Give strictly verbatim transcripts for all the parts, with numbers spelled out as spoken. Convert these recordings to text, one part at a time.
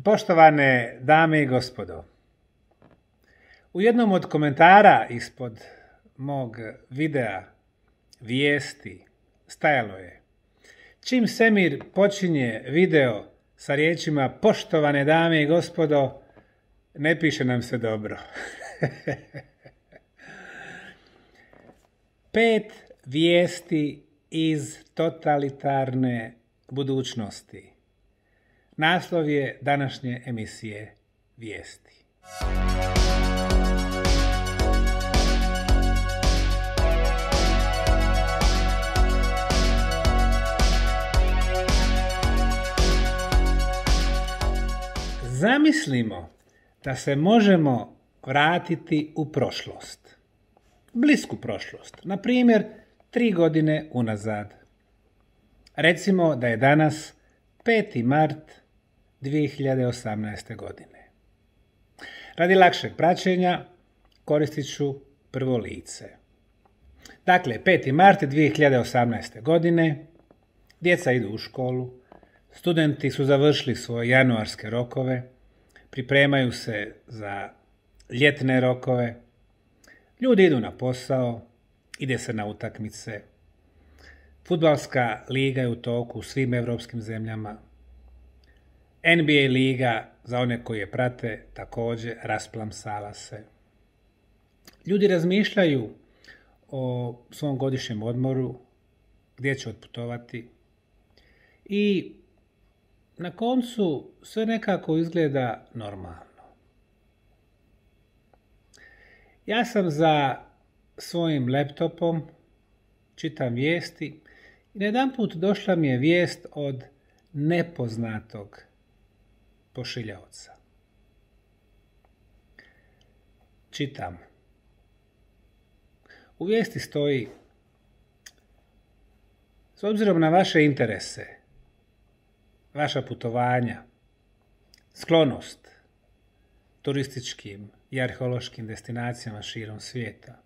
Poštovane dame i gospodo, u jednom od komentara ispod mog videa vijesti stajalo je: čim Semir počinje video sa riječima poštovane dame i gospodo, ne piše nam se dobro. Pet vijesti iz totalitarne budućnosti. Naslov je današnje emisije Vijesti. Zamislimo da se možemo vratiti u prošlost. Blisku prošlost. Na primjer, tri godine unazad. Recimo da je danas peti mart dvije hiljade osamnaeste. godine. Radi lakšeg praćenja koristit ću prvo lice. Dakle, peti mart dvije hiljade osamnaeste. godine, djeca idu u školu, studenti su završili svoje januarske rokove, pripremaju se za ljetne rokove, ljudi idu na posao, ide se na utakmice, fudbalska liga je u toku u svim evropskim zemljama, N B A liga, za one koji je prate, također rasplamsala se. Ljudi razmišljaju o svom godišnjem odmoru, gdje će otputovati i na koncu sve nekako izgleda normalno. Ja sam za svojim laptopom, čitam vijesti i najedanput došla mi je vijest od nepoznatog pošiljaoca. Čitam. U vijesti stoji: s obzirom na vaše interese, vaša putovanja, sklonost turističkim i arheološkim destinacijama širom svijeta,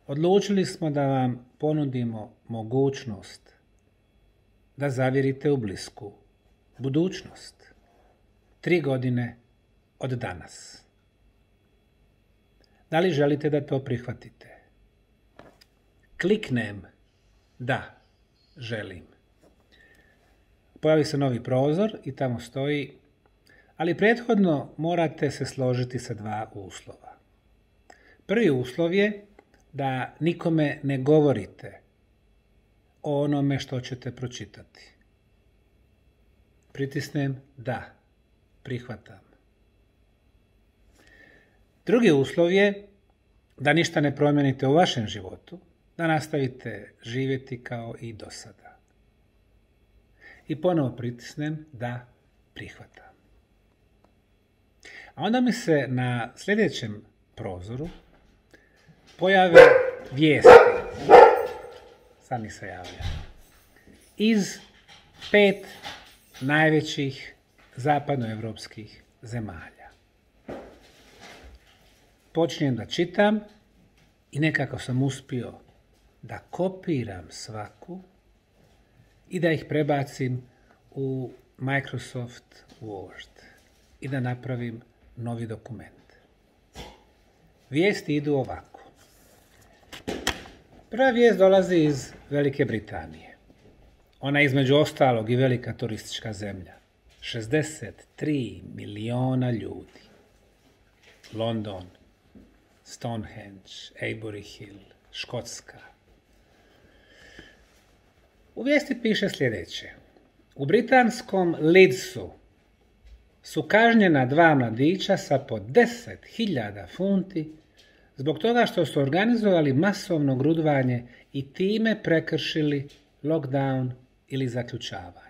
odlučili smo da vam ponudimo mogućnost da zavirite u blisku budućnost. Tri godine od danas. Da li želite da to prihvatite? Kliknem da, želim. Pojavi se novi prozor i tamo stoji: ali prethodno morate se složiti sa dva uslova. Prvi uslov je da nikome ne govorite o onome što ćete pročitati. Pritisnem da, prihvatam. Drugi uslov je da ništa ne promijenite u vašem životu, da nastavite živjeti kao i do sada. I ponovo pritisnem da, prihvatam. A onda mi se na sljedećem prozoru pojave vijesti. Sami se javlja. Iz pet najvećih zapadnoevropskih zemalja. Počinjem da čitam i nekako sam uspio da kopiram svaku i da ih prebacim u Microsoft Word i da napravim novi dokument. Vijesti idu ovako. Prva vijest dolazi iz Velike Britanije. Ona je između ostalog i velika turistička zemlja. šezdeset tri miliona ljudi. London, Stonehenge, Avebury Hill, Škotska. U vijesti piše sljedeće: u britanskom Leedsu su kažnjena dva mladića sa po deset hiljada funti zbog toga što su organizovali masovno grudvanje i time prekršili lockdown ili zaključavanje.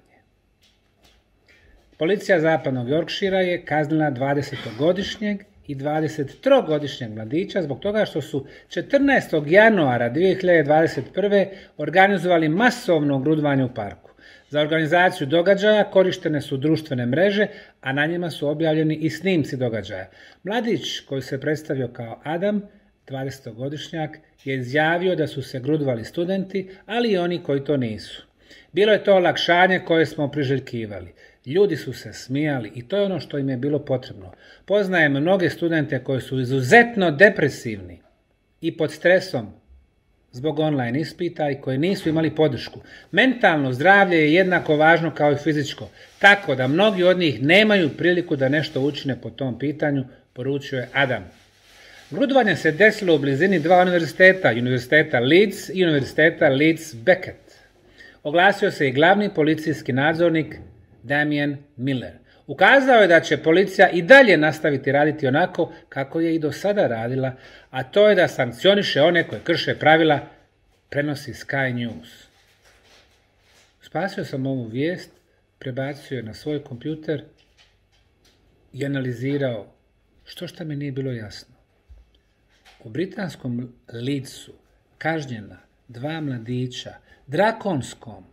Policija zapadnog Yorkshira je kaznila dvadesetogodišnjeg i dvadesettrogodišnjeg mladića zbog toga što su četrnaestog januara dvije hiljade dvadeset prve organizovali masovno grudvanje u parku. Za organizaciju događaja korištene su društvene mreže, a na njima su objavljeni i snimci događaja. Mladić, koji se predstavio kao Adam, dvadesetogodišnjak, je izjavio da su se grudvali studenti, ali i oni koji to nisu. Bilo je to olakšanje koje smo priželjkivali. Ljudi su se smijali i to je ono što im je bilo potrebno. Poznajem mnoge studente koji su izuzetno depresivni i pod stresom zbog online ispita i koji nisu imali podršku. Mentalno zdravlje je jednako važno kao i fizičko, tako da mnogi od njih nemaju priliku da nešto učine po tom pitanju, poručuje Adam. Grudvanje se desilo u blizini dva univerziteta, univerziteta Leeds i univerziteta Leeds Beckett. Oglasio se i glavni policijski nadzornik Damien Miller. Ukazao je da će policija i dalje nastaviti raditi onako kako je i do sada radila, a to je da sankcioniše one koje krše pravila, prenosi Sky News. Spasio sam ovu vijest, prebacio je na svoj kompjuter i analizirao što šta mi nije bilo jasno. U britanskom Leedsu kažnjena dva mladića drakonskom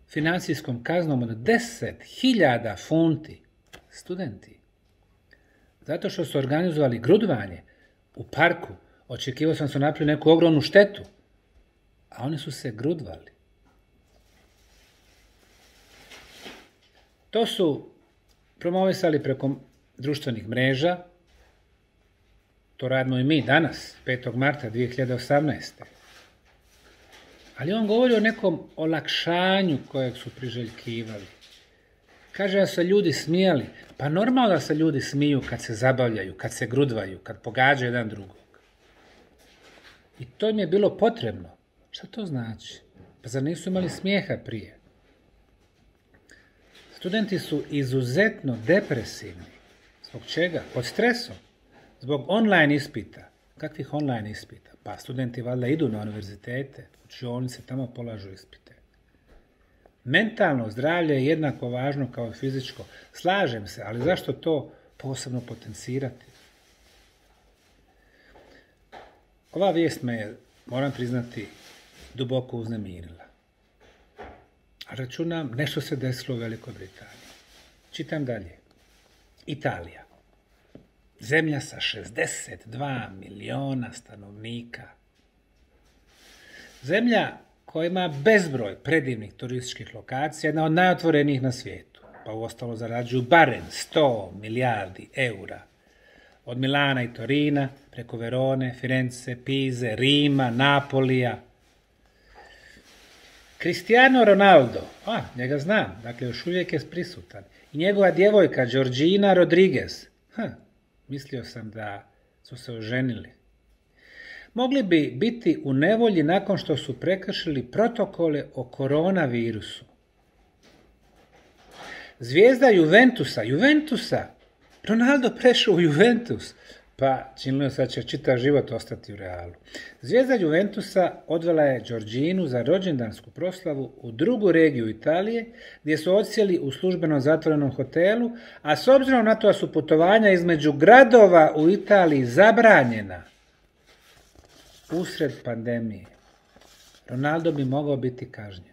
financijskom kaznom od deset hiljada funti, studenti, zato što su organizovali grudvanje u parku. Očekivao sam su napravili neku ogromnu štetu, a oni su se grudvali. To su promovisali preko društvenih mreža, to radimo i mi danas, petog marta dvije hiljade osamnaeste. Ali on govori o nekom olakšanju kojeg su priželjkivali. Kaže da se ljudi smijali. Pa normalno da se ljudi smiju kad se zabavljaju, kad se grudvaju, kad pogađaju jedan drugog. I to im je bilo potrebno. Šta to znači? Pa zar nisu imali smijeha prije? Studenti su izuzetno depresivni. Zbog čega? Pod stresom. Zbog online ispita. Kakvih online ispita? Pa studenti valjda idu na univerzitete, učionice, tamo polažu ispite. Mentalno zdravlje je jednako važno kao i fizičko. Slažem se, ali zašto to posebno potencirati? Ova vijest me je, moram priznati, duboko uznemirila. A računam, nešto se desilo u Velikoj Britaniji. Čitam dalje. Italija. Zemlja sa šezdeset dva miliona stanovnika. Zemlja koja ima bezbroj predivnih turističkih lokacija, jedna od najotvorenijih na svijetu, pa uostalo zarađuju barem sto milijardi eura. Od Milana i Torina, preko Verone, Firence, Pize, Rima, Napolija. Cristiano Ronaldo, a, njega znam, dakle još uvijek je prisutan. I njegova djevojka Georgina Rodriguez, hm, mislio sam da su se oženili. Mogli bi biti u nevolji nakon što su prekršili protokole o koronavirusu. Zvijezda Juventusa, Juventusa, Ronaldo prešao u Juventus, pa činilo se da će čitav život ostati u Realu. Zvijezda Juventusa odvela je Georginu za rođendansku proslavu u drugu regiju Italije, gdje su odsjeli u službeno zatvorenom hotelu, a s obzirom na to da su putovanja između gradova u Italiji zabranjena usred pandemije, Ronaldo bi mogao biti kažnjen.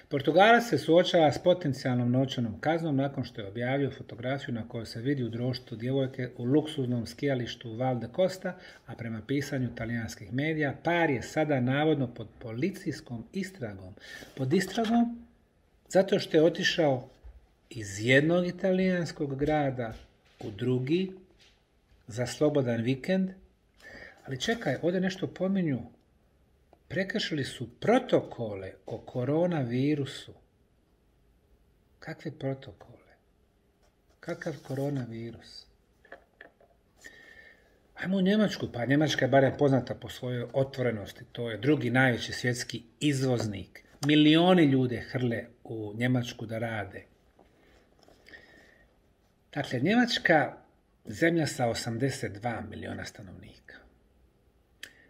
Portugalac se suočava s potencijalnom novčanom kaznom nakon što je objavio fotografiju na kojoj se vidi u društvu djevojke u luksuznom skijalištu Val de Costa, a prema pisanju talijanskih medija, par je sada navodno pod policijskom istragom. Pod istragom zato što je otišao iz jednog italijanskog grada u drugi za slobodan vikend. Ali čekaj, ovdje nešto pominju. Prekršili su protokole o koronavirusu. Kakve protokole? Kakav koronavirus? Ajmo u Njemačku, pa Njemačka je barem poznata po svojoj otvorenosti. To je drugi najveći svjetski izvoznik. Milioni ljude hrle u Njemačku da rade. Dakle, Njemačka zemlja sa osamdeset dva miliona stanovnika.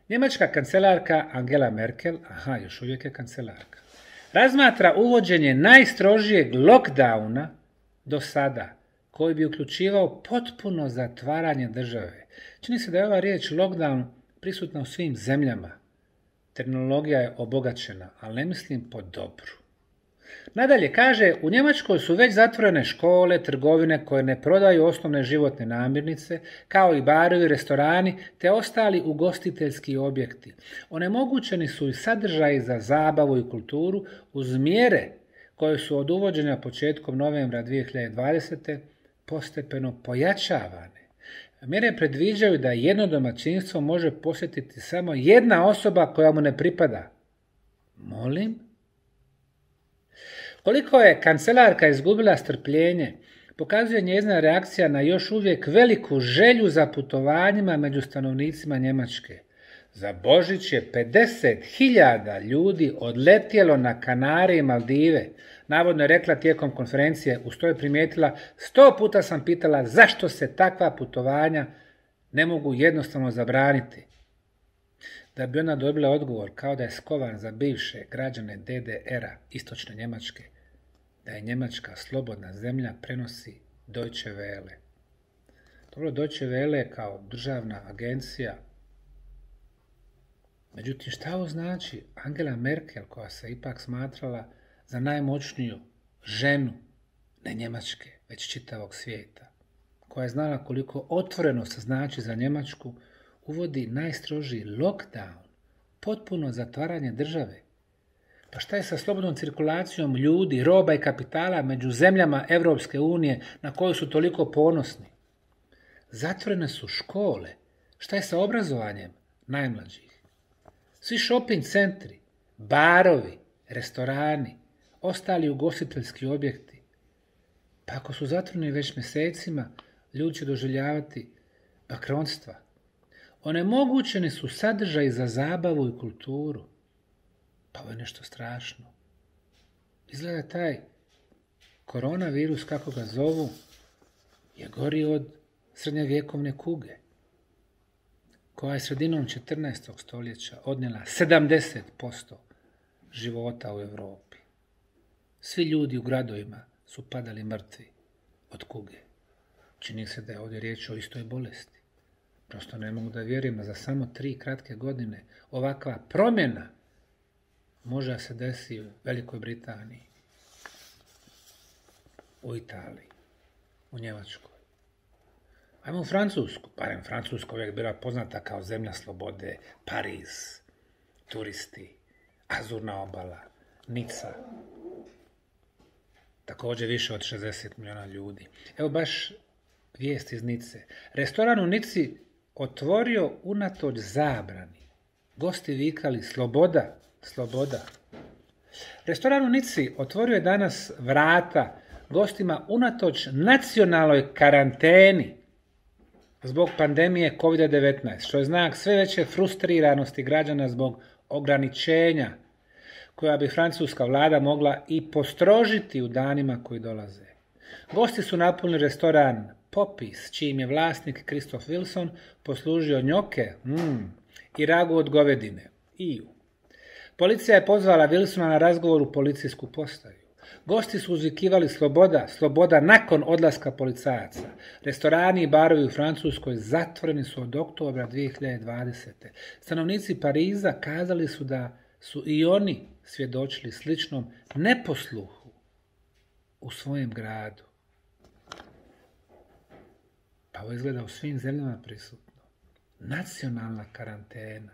Njemačka kancelarka Angela Merkel, aha, još uvijek je kancelarka, razmatra uvođenje najstrožijeg lockdowna do sada, koji bi uključivao potpuno zatvaranje države. Čini se da je ova riječ lockdown prisutna u svim zemljama. Terminologija je obogaćena, ali ne mislim po dobru. Nadalje kaže, u Njemačkoj su već zatvorene škole, trgovine koje ne prodaju osnovne životne namirnice, kao i barovi, restorani, te ostali ugostiteljski objekti. Onemogućeni su i sadržaji za zabavu i kulturu uz mjere koje su od uvođenja početkom novembra dvije hiljade dvadesete. postepeno pojačavane. Mjere predviđaju da jedno domaćinstvo može posjetiti samo jedna osoba koja mu ne pripada. Molim? Koliko je kancelarka izgubila strpljenje, pokazuje njezina reakcija na još uvijek veliku želju za putovanjima među stanovnicima Njemačke. Za Božić je pedeset hiljada ljudi odletjelo na Kanare i Maldive. Navodno je rekla tijekom konferencije, uz to je primijetila, sto puta sam pitala zašto se takva putovanja ne mogu jednostavno zabraniti. Da bi ona dobila odgovor kao da je skovan za bivše građane D D R-a istočne Njemačke, da je Njemačka slobodna zemlja, prenosi Deutsche Welle. Dobro, Deutsche Welle kao državna agencija. Međutim, šta ovo znači? Angela Merkel, koja se ipak smatrala za najmoćniju ženu, ne Njemačke, već čitavog svijeta, koja je znala koliko otvoreno se znači za Njemačku, uvodi najstrožiji lockdown, potpuno zatvaranje države. Pa šta je sa slobodnom cirkulacijom ljudi, roba i kapitala među zemljama Europske unije na koju su toliko ponosni? Zatvorene su škole. Šta je sa obrazovanjem najmlađih? Svi shopping centri, barovi, restorani, ostali ugostiteljski objekti. Pa ako su zatvoreni već mjesecima, ljudi će doživljavati bakronstva. Onemogućeni su sadržaji za zabavu i kulturu. Pa ovo je nešto strašno. Izgleda taj koronavirus, kako ga zovu, je gori od srednjevjekovne kuge, koja je sredinom četrnaestog stoljeća odnijela sedamdeset posto života u Europi. Svi ljudi u gradovima su padali mrtvi od kuge. Čini se da je ovdje riječ o istoj bolesti. Prosto ne mogu da vjerujem da za samo tri kratke godine ovakva promjena može se desiti u Velikoj Britaniji, u Italiji, u Njemačkoj. Ajmo u Francusku. Barem Francuska uvijek bila poznata kao zemlja slobode, Pariz, turisti, Azurna obala, Nica. Također više od šezdeset milijuna ljudi. Evo baš vijest iz Nice. Restoran u Nici otvorio unatoč zabrani. Gosti vikali sloboda, sloboda. Restoran u Nici otvorio je danas vrata gostima unatoč nacionalnoj karanteni zbog pandemije kovid devetnaest, što je znak sve veće frustriranosti građana zbog ograničenja koja bi francuska vlada mogla i postrožiti u danima koji dolaze. Gosti su napunili restoran Popis, čijim je vlasnik Christoph Wilson poslužio njoke mm, i ragu od govedine. Iju. Policija je pozvala Wilsona na razgovor u policijsku postaju. Gosti su uzvikivali sloboda, sloboda nakon odlaska policajaca. Restorani i barovi u Francuskoj zatvoreni su od oktobra dvije hiljade dvadesete. Stanovnici Pariza kazali su da su i oni svjedočili sličnom neposluhu u svojem gradu. Pa ovo izgleda u svim zemljama prisutno. Nacionalna karantena.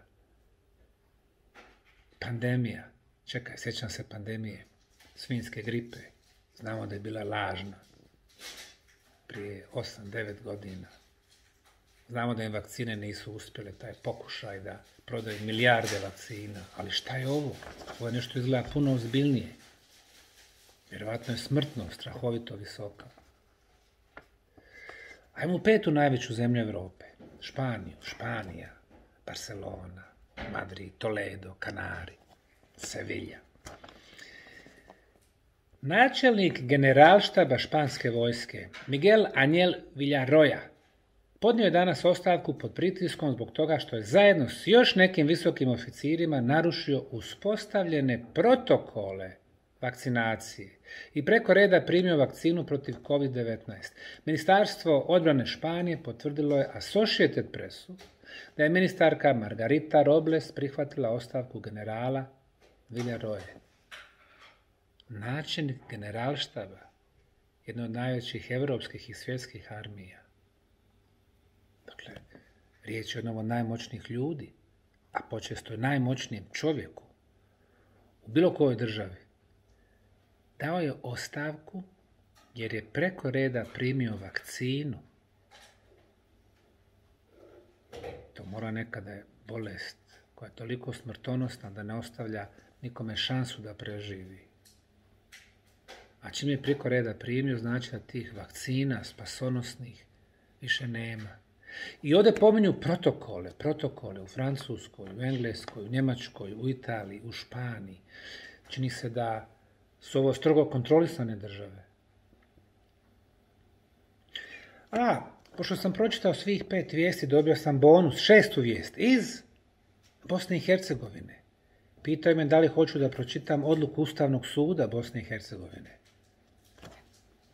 Pandemija. Čekaj, sjećam se pandemije svinjske gripe. Znamo da je bila lažna. Prije osam devet godina. Znamo da im vakcine nisu uspjele, taj pokušaj da prodaju milijarde vakcina. Ali šta je ovo? Ovo je nešto izgleda puno ozbiljnije. Vjerovatno je smrtnost strahovito visoka. Ajmo u petu najveću zemlju Europe. Španiju, Španija, Barcelona, Madrid, Toledo, Kanari, Sevilla. Načelnik generalštaba španske vojske, Miguel Ángel Villarroya, podnio je danas ostavku pod pritiskom zbog toga što je zajedno s još nekim visokim oficirima narušio uspostavljene protokole vakcinacije i preko reda primio vakcinu protiv kovid devetnaest. Ministarstvo odbrane Španije potvrdilo je Associated Pressu da je ministarka Margarita Robles prihvatila ostavku generala Villarroye. Načelnik generalštaba, jedno od najvećih evropskih i svjetskih armija. Dakle, riječ je o jednom od najmoćnijih ljudi, a počesto najmoćnijem čovjeku u bilo kojoj državi. dao je ostavku jer je preko reda primio vakcinu. To mora nekada je bolest koja je toliko smrtonosna da ne ostavlja nikome šansu da preživi. A čim je preko reda primio, znači da tih vakcina spasonosnih više nema. I ovdje pominju protokole, protokole u Francuskoj, u Engleskoj, u Njemačkoj, u Italiji, u Španiji. Čini se da su ovo strogo kontrolisane države. A, pošto sam pročitao svih pet vijesti, dobio sam bonus, šestu vijest iz Bosne i Hercegovine. Pitaju me da li hoću da pročitam odluku Ustavnog suda Bosne i Hercegovine.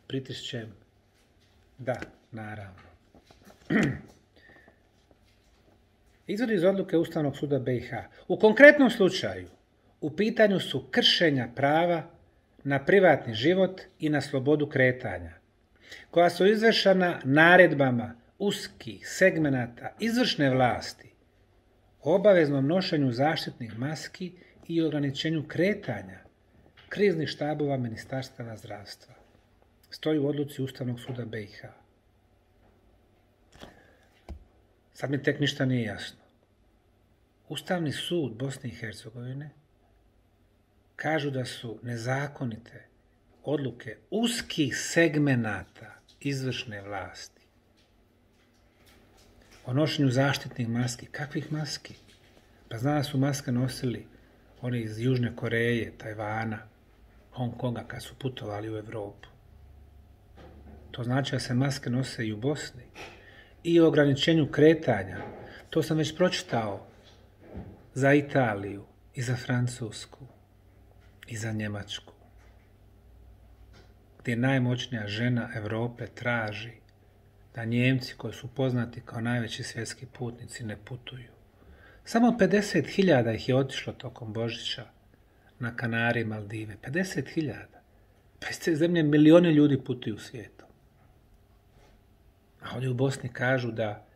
Pritišćem da, naravno. Izvod iz odluke Ustavnog suda B i H. U konkretnom slučaju, u pitanju su kršenja prava na privatni život i na slobodu kretanja, koja su izvršena naredbama uskih segmenata izvršne vlasti, o obaveznom nošenju zaštitnih maski i ograničenju kretanja kriznih štabova Ministarstava zdravstva. Stoji u odluci Ustavnog suda B i H. Sad mi tek ništa nije jasno. Ustavni sud Bosne i Hercegovine kažu da su nezakonite odluke uskih segmenata izvršne vlasti o nošenju zaštitnih maski. Kakvih maski? Pa zna da su maske nosili oni iz Južne Koreje, Tajvana, Hong Konga kad su putovali u Evropu. To znači da se maske nose i u Bosni. I o ograničenju kretanja. To sam već pročitao za Italiju i za Francusku i za Njemačku, gdje najmoćnija žena Evrope traži da Njemci, koji su poznati kao najveći svjetski putnici, ne putuju. Samo pedeset hiljada ih je otišlo tokom Božića na Kanarije i Maldive. pedeset hiljada. Pa iz te zemlje milioni ljudi putuju svijetom. A ovdje u Bosni kažu da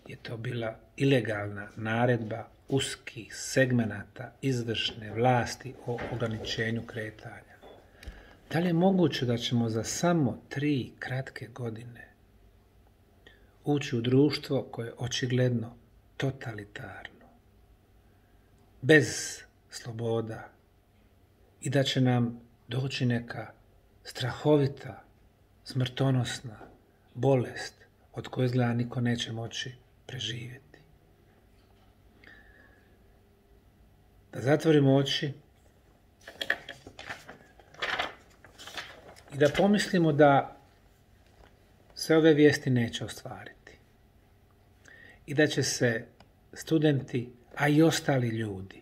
je to bila ilegalna naredba uskih segmenata izvršne vlasti o ograničenju kretanja. Da li je moguće da ćemo za samo tri kratke godine ući u društvo koje je očigledno totalitarno, bez sloboda, i da će nam doći neka strahovita, smrtonosna bolest od koje izgleda niko neće moći preživjeti. Da zatvorimo oči i da pomislimo da se ove vijesti neće ostvariti i da će se studenti, a i ostali ljudi,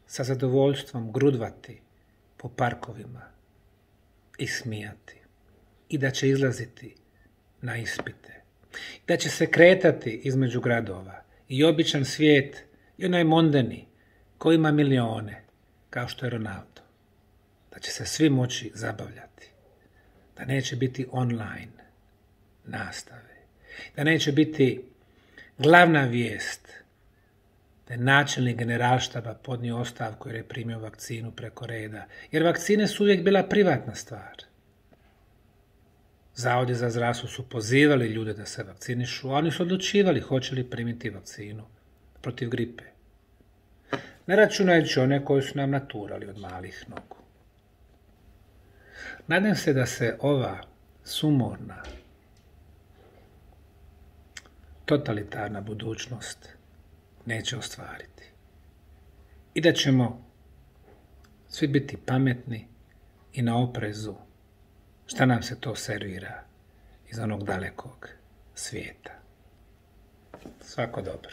sa zadovoljstvom grudvati po parkovima i smijati i da će izlaziti na ispite, da će se kretati između gradova i običan svijet i onaj mondeni koji ima milione, kao što je Ronaldo, da će se svi moći zabavljati, da neće biti online nastave, da neće biti glavna vijest da je načelnik generalštaba podnio ostavku jer je primio vakcinu preko reda, jer vakcine su uvijek bila privatna stvar. Zavodi za zdravstvo su pozivali ljude da se vakcinišu, a oni su odlučivali hoće li primiti vakcinu protiv gripe. Ne računajući one koji su nam naturali od malih nogu. Nadam se da se ova sumorna, totalitarna budućnost neće ostvariti. I da ćemo svi biti pametni i na oprezu šta nam se to servira iz onog dalekog svijeta. Svako dobro.